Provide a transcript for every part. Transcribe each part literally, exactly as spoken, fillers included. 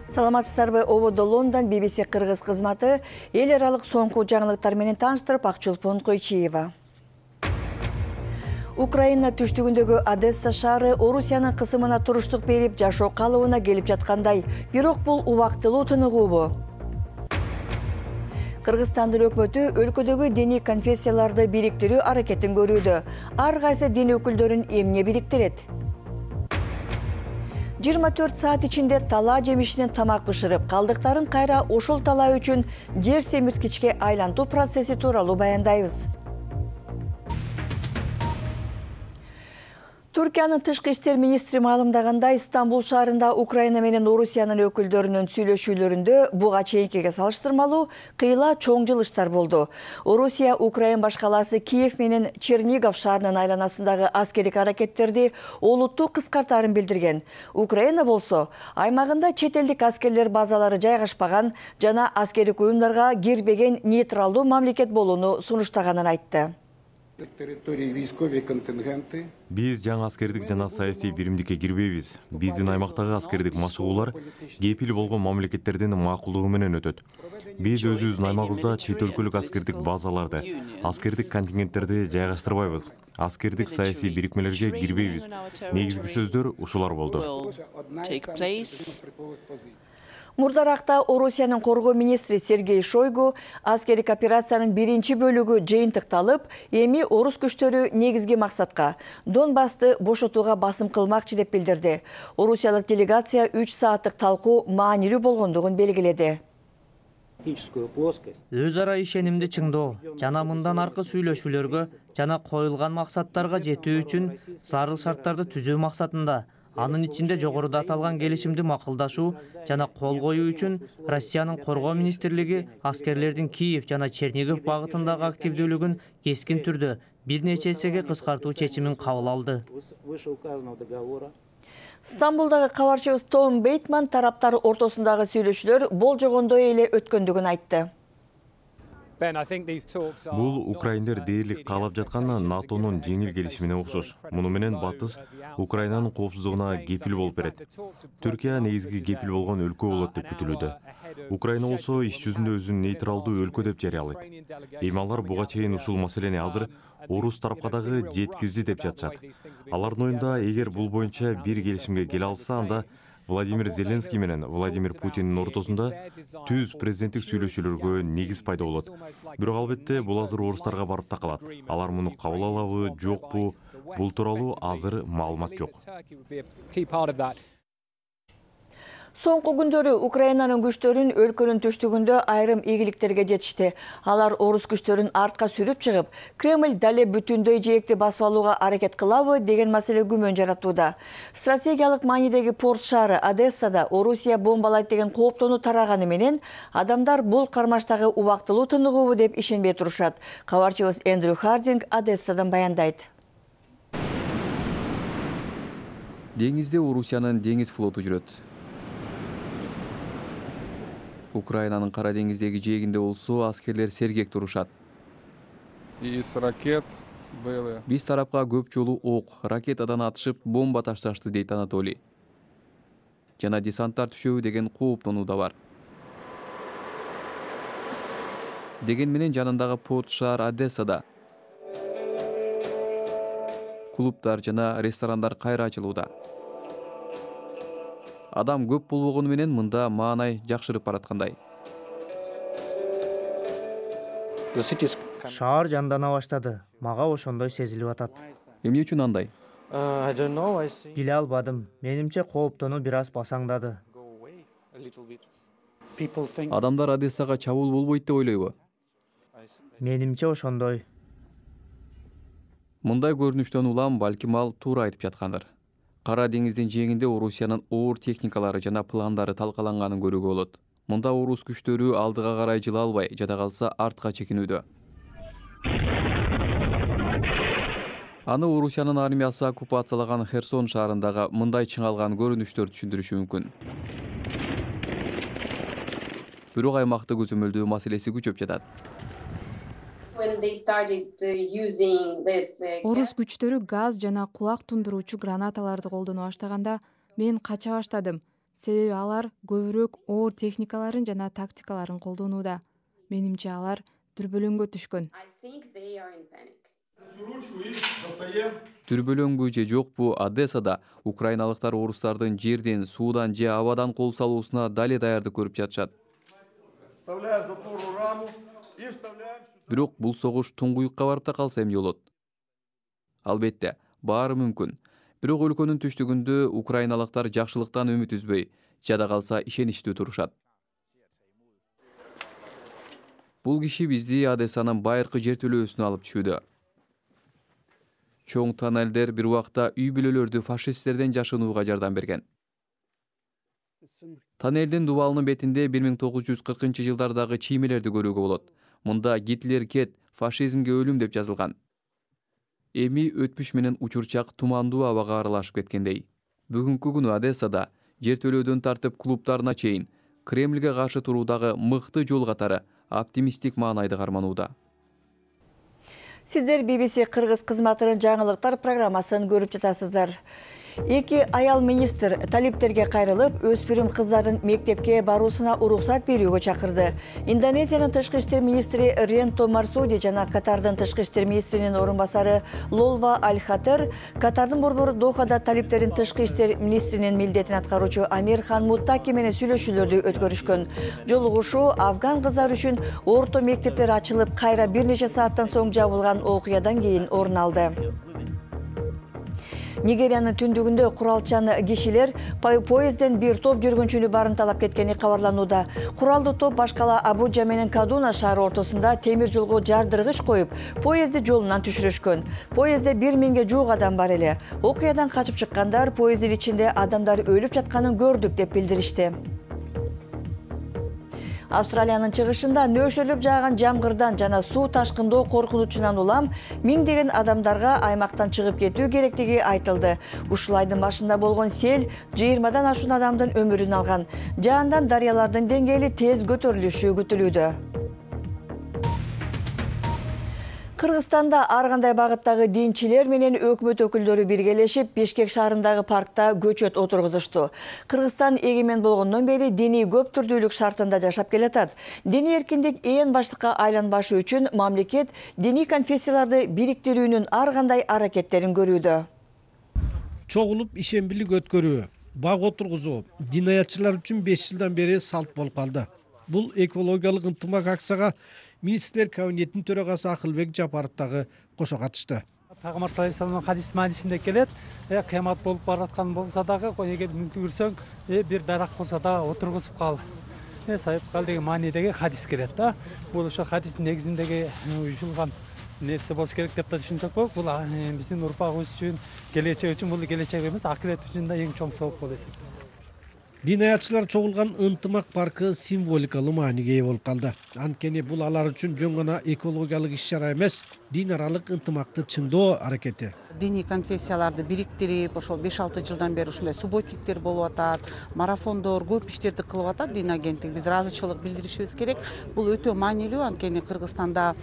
Саламатсыздарбы, ободо Лондон би би си кыргыз кызматы эл аралык соңку жаңылыктар менен тааныштырып, Акчулпун Койчиева. Украина түштүгүндөгү Одесса шаары Орусиянын кысымына туруштук берип, жашоо калыбына келип жаткандай, бирок бул убактылуу тыныгуубу? Кыргызстандын өкмөтү өлкөдөгү диний конфессияларды бириктирүү аракетин көрүүдө. Ар кайсы дин өкүлдөрүн эмне бириктирет? жыйырма төрт саат ичинде талаа жемишинен тамак бышырып, калдыктарын кайра ошол талаа үчүн жер семирткичке айлантуу процесси тууралуу баяндайбыз. Түркиянын тышкы иштер министри маалымдагандай, Стамбул шаарында Украина менен Орусиянын өкүлдөрүнүн сүйлөшүүлөрүндө буга чейинкиге салыштырмалуу кыйла чоң жылыштар болду. Орусия Украина башкаласы Киев менен Чернигов шаарынын айланасындагы аскердик аракеттерди олуттуу кыскартаарын билдирген. Украина болсо, аймагында чет элдик аскерлер базалары жайгашпаган жана аскердик уюмдарга кирбеген нейтралдуу мамлекет болууну сунуштаганын айтты. Биз жаңы аскердик жана саясий биримдикке кирбейбиз. Биздин аймактагы аскердик машыгуулар кепил болгон мамлекеттердин макулдугу менен өтөт. Биз өзүбүздүн аймагыбызда чет өлкөлүк аскердик базаларды, аскердик контингенттерди жайгаштырбайбыз. Аскердик саясий бирикмелерге кирбейбиз. Негизги сөздөр ушулар болду. Мурдаракта Орусиянын коргоо министри Сергей Шойгу аскердик операциянын биринчи бөлүгү жыйынтыкталып, эми орус күчтөрү негизги максатка Донбассты бошотууга басым кылмакчы деп билдирди. Орусиялык делегация үч сааттык талкуу маанилүү болгондугун белгиледи. Өз ара ишенимди чыңдоо жана мындан аркы сүйлөшүүлөргө жана коюлган максаттарга жетүү үчүн зарыл шарттарды түзүү максатында, анын ичинде жогоруда аталган келишимди макулдашуу жана кол коюу үчүн Россиянын коргоо министрлиги аскерлердин Киев жана Чернигов багытындагы активдүүлүгүн кескин түрдө бир нече эсеге кыскартуу чечимин кабыл алды. Стамбулдагы кабарчыбыз Том Бейтман тараптар ортосундагы сүйлөшүүлөр болжогондой эле өткөндүгүн айтты. Бул украиндер дээрлик каалап жаткан НАТОнун жеңил келишимине окшош. Муну менен Батыш Украинанын коопсуздугуна кепил болуп берет. Түркия негизги кепил болгон өлкө болот деп күтүлүүдө. Украина болсо иш жүзүндө өзүн нейтралдуу өлкө деп жарыялайт. Эми алар буга чейин ушул маселени азыр орус тарапка дагы жеткизди деп жатышат. Алардын оюнда, эгер бул боюнча бир келишимге келе алса, анда Владимир Зеленский менен Владимир Путиндин ортосунда түз президенттик сүйлөшүүлөргө негиз пайда болот. Бирок албетте бул азыр орустарга барып такалат. Алар муну кабыл алабы, жокпу, бул тууралуу азыр маалымат жок. Соңку күндөрү Украинанын күчтөрүн өлкөнүн түштүгүндө айрым ийгиликтерге жетишти. Алар орус күчтөрүн артка сүрүп чыгып, Кремль дале бүтүндөй жээкти басып алууга аракет кылабы деген маселе күмөн жаратууда. Стратегиялык маанидеги порт шаары Одессада Орусия бомбалайт деген кооптонуу тараганы менен адамдар бул кармаштагы убактылуу тыныгуубу деп ишенбей турушат. Кабарчыбыз Эндрю Хардинг Одессадан баяндайт. Деңизде Орусиянын деңиз флоту жүрөт. Украинанын Кара деңиздеги жээгинде болсо аскерлер сергек турушат. Биз тарапка көп жолу ок, ракетадан атышып, бомба ташташты дейт Анатолий. Жана десанттар түшөбү деген кооптонуу да бар. Деген менен жанындагы порт шаар Одессада клубдар жана ресторандар кайра ачылууда. Адам көп болбогону менен мында маанай жакшырып бараткандай. Шаар жандана баштады. Мага ошондой сезилип атат. Эмне үчүн андай? Биле албадым. Менимче кооптонуу бир аз басаңдады. Адамдар Одессага чабуул болбойт деп ойлойбу? Менимче ошондой. Мындай көрүнүштөн улам балким ал туура айтып жаткандыр. Кара деңиздин жээгинде Орусиянын оор техникалары жана пландары талкаланганын көрүүгө болот. Мында орус күчтөрү алдыга карай жыла албай, жада калса артка чекинүүдө. Аны Орусиянын армиясы оккупациялаган Херсон шаарындагы мындай чыңалган көрүнүштөр түшүндүрүшү мүмкүн. Бирок аймакты көзөмөлдөө маселеси күчөп жатат. Орус күчтөрү газ жана кулак тундуруучу гранаталарды колдоно баштаганда мен кача баштадым. Себеби алар көбүрөөк оор техникаларын жана тактикаларын колдонууда. Менимче алар дүрбөлөңгө түшкөн. Дүрбөлөңбү же жокпу, Одессада украиналыктар орустардын жерден, суудан же абадан кол салуусуна дале даярдык көрүп жатышат. Бирок бул согуш туңгуюкка барып да калса эмне болот? Албетте, баары мүмкүн. Бирок өлкөнүн түштүгүндө украиналыктар жакшылыктан үмүт үзбөй, жада калса ишеничтүү турушат. Бул киши бизди Одессанын байыркы жертөлөөсүнө алып түшүүдө. Чоң тоннелдер бир убакта үй бүлөлөрдү фашисттерден жашынууга жардам берген. Тоннелдин дубалынын бетинде бир миң тогуз жүз кыркынчы жылдардагы чиймелерди көрүүгө болот. Мында Гитлер кет, фашизмге өлүм деп жазылган. Эми өтмүш менен учурчак тумандуу абага аралашып кеткендей. Бүгүнкү күнү Одессада жертөлөөдөн тартып клубтарына чейин Кремльге каршы туруудагы мыкты жол катары оптимисттик маанайды карманууда. Сиздер би би си Кыргыз кызматынын жаңылыктар программасын көрүп жатасыздар. Эки аял министр талиптерге кайрылып, өспүрүм кыздардын мектепке баруусуна уруксат берүүгө чакырды. Индонезиянын тышкы иштер министри Ренто Марсуди жана Катардын тышкы иштер министринин орун басары Лолва Аль-Хатер, Катардын борбору Дохада талиптердин тышкы иштер министринин милдетин аткаруучу Амир Хан Муттаки менен сүйлөшүүлөрдү өткөрүшкөн. Жолугушуу афган кыздар үчүн орто мектептер ачылып, кайра бир нече сааттан соң жабылган окуядан кийин орун алды. Нигериянын түндүгүндө куралчан кишилер поездден бир топ жүргүнчүнү барымталап кеткени кабарланууда. Куралдуу топ башкала Абуджа менен Кадуна шаары ортосунда темир жолго жардыргыч коюп, поездди жолунан түшүрүшкөн. Поездде бир миңге жуук адам бар эле. Окуядан качып чыккандар поезддин ичинде адамдар өлүп жатканын көрдүк деп билдиришти. Австралиянын чыгышында нөшөлүп жааган жамгырдан жана суу ташкындоо коркунучунан улам миңдеген адамдарга аймактан чыгып кетүү керектиги айтылды. Ушул айдын башында болгон сел жыйырмадан ашуун адамдын өмүрүн алган. Жаандан дарыялардын деңгээли тез көтөрүлүшү күтүлүүдө. Кыргызстанда ар кандай багыттагы динчилер менен өкмөт өкүлдөрү биргелешип, Бишкек шаарындагы паркта көчөт отургузушту. Кыргызстан эгемен болгондон бери диний көп түрдүүлүк шартында жашап келатат. Диний эркиндик ээн баштыкка айланбашы үчүн мамлекет диний конфессияларды бириктирүүнүн ар кандай аракеттерин көрүүдө. Чогулуп ишембилик өткөрүү, бак отургузуу динаятчылар үчүн беш жылдан бери салт болуп калды. Бул экологиялык ынтымак акцияга Министрлер кабинетинин төрагасы Акылбек Жапаров дагы кошо катышты. Пайгамбар саллаллаху алейхи вассаламдын хадис маанисинде келет, кыямат болуп бараткан болсо дагы, эгер мүмкүн көрсөң, бир дарак болсо да отургузуп кал. Сайып кал деген маанидеги хадис келет да. Бул ошо хадистин негизиндеги уюшулган нерсе болуш керек деп да түшүнсөк болот. Бул биздин урпагыбыз үчүн, келечек үчүн, бул келечек эмес, акырет үчүн да эң чоң сооп болуп эсептелет. Динаятчылар чогулган ынтымак паркы символикалуу мааниге ээ болуп калды. Анткени бул алар үчүн жөн гана экологиялык иш-чара эмес, дин аралык ынтымакты чыңдоо аракети. Диний конфессияларды бириктирип, ошол беш алты жылдан бери ушундай субботниктер болуп атат, марафондор, көп иштерди кылып атат дин агенттик. Биз ыраазычылык билдиришибиз керек. Бул өтө маанилүү, анткени Кыргызстанда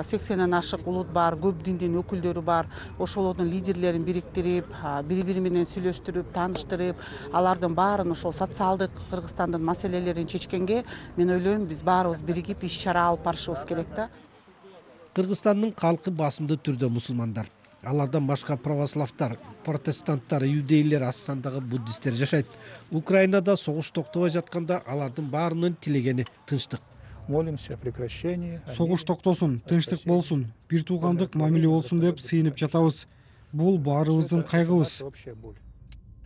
сексенден ашык улут бар, көп диндин өкүлдөрү бар. Ошолордун лидерлерин бириктирип, бири-бири менен сүйлөштүрүп, тааныштырып, алардын баарын ошол социалдык Кыргызстандын маселелерин чечкенге, мен ойлойм, биз баарыбыз биригип иш-чара алып барышыбыз керек да. Кыргызстандын калкы басымдуу түрдө мусулмандар. Алардан башка православтар, протестанттар, иудейлер, аз сандагы буддисттер жашайт. Украинада согуш токтобой жатканда алардын баарынын тилегени тынчтык. Молимся о прекращении. Согуш токтосун, тынчтык болсун, бир туугандык мамиле болсун деп сыйынып жатабыз. Бул баарыбыздын кайгыбыз.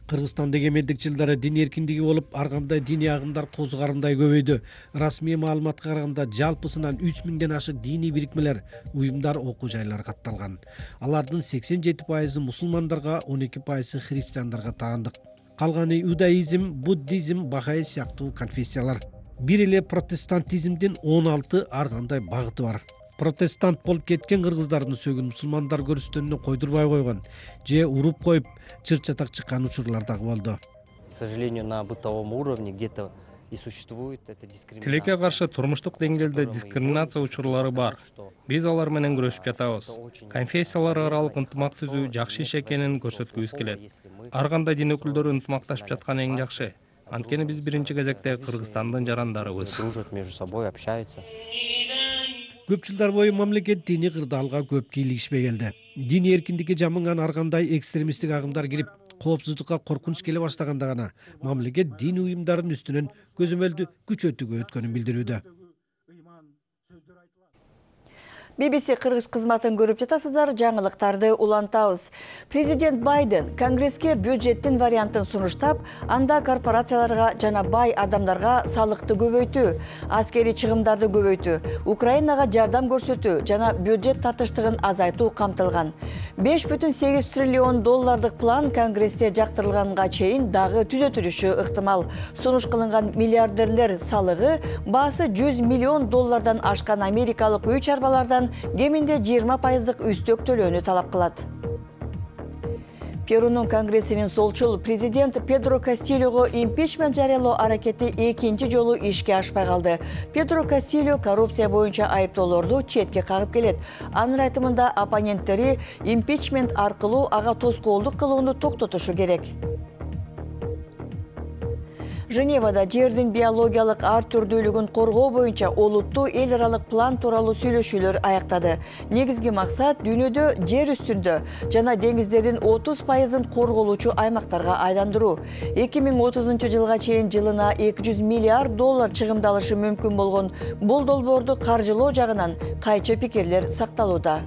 Кыргызстанда эгемендик жылдары дин эркиндиги болуп, ар кандай диний агымдар козгарындай көбөйдү. Расмий маалыматка караганда жалпысынан үч миңден ашык диний бирикмелер, уюмдар, окуу жайлар катталган. Алардын сексен жети пайызы мусулмандарга, он эки пайызы христиандарга таандык. Калганы иудаизм, буддизм, бахаи сыяктуу конфессиялар. Бир эле протестантизмдин он алты ар кандай багыты бар. протестант болуп кеткен кыргыздардын сөөгүн мусулмандар көрүстөнүнө койдурбай койгон же уруп коюп чыр чатак чыккан учурлар дагы болду. К сожалению, на бытовом уровне где-то и существует эта дискриминация. Тилекке каршы турмуштук деңгээлде дискриминация учурлары бар. Биз алар менен күрөшүп жатабыз. Конфессиялар аралык ынтымак түзүү жакшы иш экенин көрсөткүбүз келет. Ар кандай дин өкүлдөрү ынтымакташып жаткан эң жакшы. Анткени биз биринчи кезекте Кыргызстандын жарандарыбыз. Дружат между собой, общаются. Көп жылдар бою мамлекет диний кырдаалга көп кийлигишпей келди. Диний эркиндикке жамынган ар кандай экстремисттик агымдар кирип, коопсуздукка коркунуч келе баштаганда гана мамлекет дин уюмдарынын үстүнөн көзөмөлдү күчөтүүгө өткөнүн билдирүүдө. би би си Кыргыз кызматын көрүп жатасыздар, жаңылыктарды улантабыз. Президент Байден Конгресске бюджеттин вариантын сунуштап, анда корпорацияларга жана бай адамдарга салыкты көбөйтүү, аскери чыгымдарды көбөйтүү, Украинага жардам көрсөтүү жана бюджет тартыштыгын азайтуу камтылган. беш бүтүн сегиз триллион доллардык план Конгрессте жактырылганга чейин дагы түзөтүлүшү ыктымал. Сунуш кылынган миллиардерлер салыгы баасы жүз миллион доллардан ашкан америкалык үй чарбалардан кеминде жыйырма пайыздык үстөк төлөөнү талап кылат. Перунун конгрессинин солчул президент Педро Кастилього импичмент жарыялоо аракети экинчи жолу ишке ашпай калды. Педро Кастильо коррупция боюнча айыптоолорду четке кагып келет. Анын айтымында оппоненттери импичмент аркылуу ага тоскоолдук кылууну токтотушу керек. Женевада жердин биологиялык ар түрдүүлүгүн коргоо боюнча олуттуу эл аралык план тууралуу сүйлөшүүлөр аяктады. Негизги максат дүйнөдө жер үстүндө жана деңиздердин отуз пайызын корголуучу аймактарга айландыруу. эки миң отузунчу жылга чейин жылына эки жүз миллиард доллар чыгымдалышы мүмкүн болгон бул долбоорду каржылоо жагынан кайчы пикирлер сакталууда.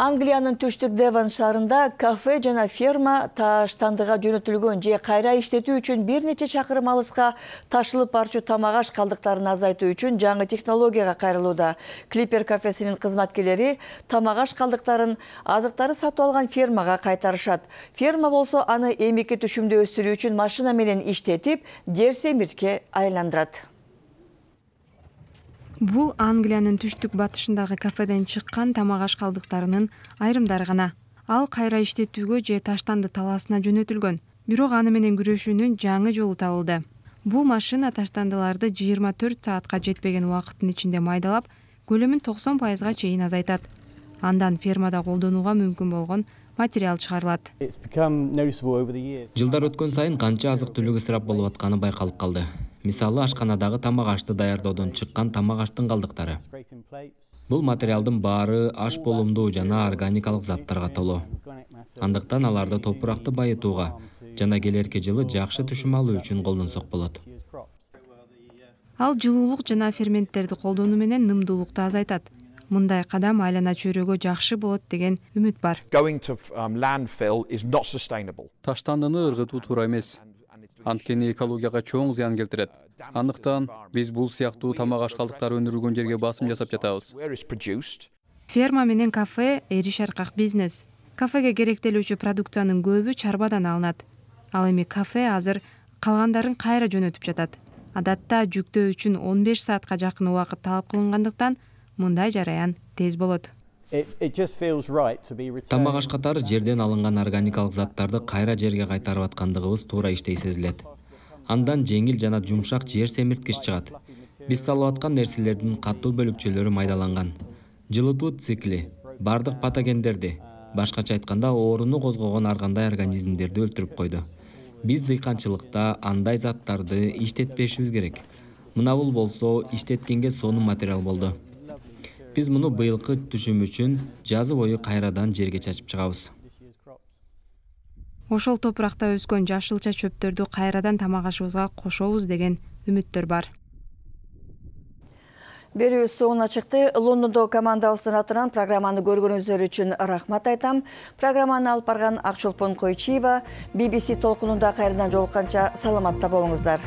Англиянын түштүк Девон шаарында кафе жана ферма таштандыга жөнөтүлгөн же кайра иштетүү үчүн бир нече чакырым алыска ташылып барчу тамак аш калдыктарын азайтуу үчүн жаңы технологияга кайрылууда. Клипер кафесинин кызматкерлери тамак аш калдыктарын азыктары сатып алган фермага кайтарышат. Ферма болсо аны эмики түшүмдө өстүрүү үчүн машина менен иштетип, жер семиртке айландырат. Бул Англиянын түштүк батышындагы кафеден чыккан тамак аш калдыктарынын айрымдары гана. Ал кайра иштетүүгө же таштанды талаасына жөнөтүлгөн. Бирок аны менен күрөшүүнүн жаңы жолу табылды. Бул машина таштандыларды жыйырма төрт саатка жетпеген убакыттын ичинде майдалап, көлөмүн токсон пайызга чейин азайтат. Андан фермада колдонууга мүмкүн болгон материал чыгарылат. Жылдар өткөн сайын канча азык-түлүк ысырап болуп атканы байкалып калды. Мисалы, ашканадагы тамак ашты даярдоодон чыккан тамак аштын калдыктары. Бул материалдын баары аш болумдуу жана органикалык заттарга толуу. Андыктан аларды топуракты байытууга жана келерки жылы жакшы түшүм алуу үчүн колдонсок болот. Ал жылуулук жана ферменттерди колдонуу менен нымдуулукту азайтат. Мындай кадам айлана чөйрөгө жакшы болот деген үмүт бар. Таштандыны ыргытуу туура эмес. Анткени экологияга чоң зыян келтирет. Андыктан биз бул сыяктуу тамак аш калдыктары өндүрүлгөн жерге басым жасап жатабыз. Ферма менен кафе эриш аркак бизнес. Кафеге керектелүүчү продукциянын көбү чарбадан алынат. Ал эми кафе азыр калгандарын кайра жөнөтүп жатат. Адатта жүктөө үчүн он беш саатка жакын убакыт талап кылынгандыктан мындай жараян тез болот. Тамак аш катары жерден алынган органикалык заттарды кайра жерге кайтарып аткандыгыбыз туура иштей сезилет. Андан жеңил жана жумшак жер семирткич чыгат. Биз салып аткан нерселердин катуу бөлүкчөлөрү майдаланган. Жылытуу цикли бардык патогендерди, башкача айтканда ооруну козгогон ар кандай организмдерди өлтүрүп койду. Биз дыйканчылыкта андай заттарды иштетпешибиз керек. Мына бул болсо иштеткенге сонун материал болду. Биз муну быйылкы түшүм үчүн жазы бою кайрадан жерге чачып чыгабыз. Ошол топуракта өскөн жашылча чөптөрдү кайрадан тамак ашыбызга кошобуз деген үмүттөр бар. Берүүбүз соңуна чыкты. Лондондо командабыздын атынан программаны көргөнүңүздөр үчүн рахмат айтам. Программаны алып барган Акчолпон Койчиева, би би си толкунунда кайрадан жолукканча саламатта болуңуздар.